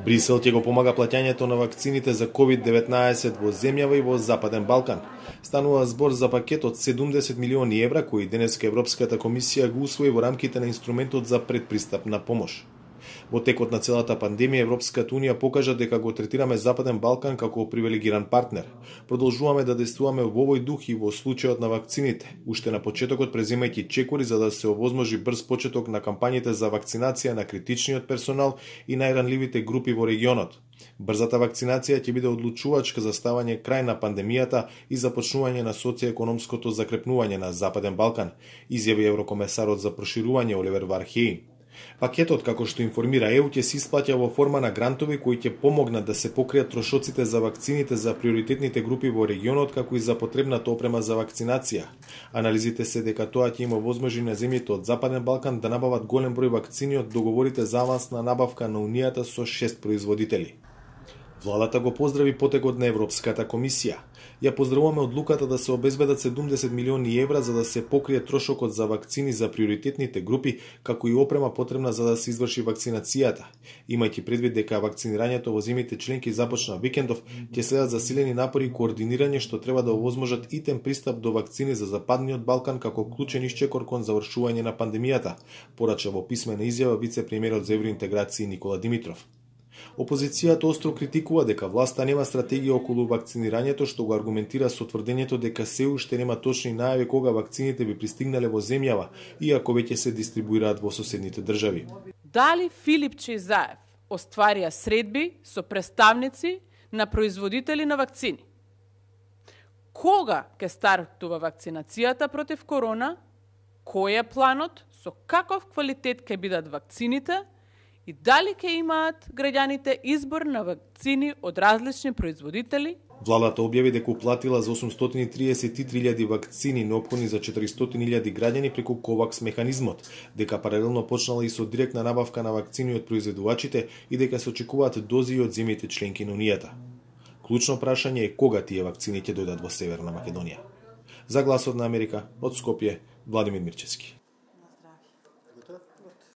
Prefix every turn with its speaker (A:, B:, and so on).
A: Брисел ќе го помага плаќањето на вакцините за COVID-19 во земјава и во Западен Балкан. Станува збор за пакет од 70 милиони евра кои денеска Европската комисија го усвои во рамките на инструментот за предпристапна помош. Во текот на целата пандемија Европската унија покажа дека го третираме Западен Балкан како привилегиран партнер. Продолжуваме да действуваме во овој дух и во случајот на вакцините, уште на почетокот преземајќи чекори за да се овозможи брз почеток на кампањите за вакцинација на критичниот персонал и најранливите групи во регионот. Брзата вакцинација ќе биде одлучувачка за ставање крај на пандемијата и започнување на социјекономското закрепнување на Западен Балкан, изјави еврокомесарот за проширување Оливер Вархејн. Пакетот, како што информира ЕУ, ќе се исплаќа во форма на грантови кои ќе помогнат да се покријат трошоците за вакцините за приоритетните групи во регионот, како и за потребната опрема за вакцинација. Анализите се дека тоа ќе има возможни на земјите од Западен Балкан да набават голем број вакцини од договорите за авансна набавка на Унијата со 6 производители. Владата го поздрави потекот на Европската комисија. Ја поздравуваме одлуката да се обезбедат 70 милиони евра за да се покрие трошокот за вакцини за приоритетните групи, како и опрема потребна за да се изврши вакцинацијата. Имајќи предвид дека вакцинирањето во земјите членки започна викендов, ќе следат засилени напори и координирање што треба да овозможат итен пристап до вакцини за Западниот Балкан како клучен исчекор кон завршување на пандемијата, порача во писмена изјава вице-премиерот за евроинтеграција Никола Димитров. Опозицијата остро критикува дека власта нема стратегија околу вакцинирањето, што го аргументира со тврдењето дека се уште нема точни најави кога вакцините би пристигнале во земјава, иако веќе се дистрибуираат во соседните држави.
B: Дали Филип Чеизаев остварија средби со представници на производители на вакцини? Кога ќе стартува вакцинацијата против корона? Кој е планот? Со каков квалитет ќе бидат вакцините? И дали ќе имаат граѓаните избор на вакцини од различни производители?
A: Владата објави дека уплатила за 833.000 вакцини неопходни за 400.000 граѓани преку ковакс механизмот, дека паралелно почнала и со директна набавка на вакцини од произведувачите и дека се очекуваат дози од земјите членки на Унијата. Клучно прашање е кога тие вакцини ќе дојдат во Северна Македонија. За Гласот на Америка, од Скопје, Владимир Мирчевски.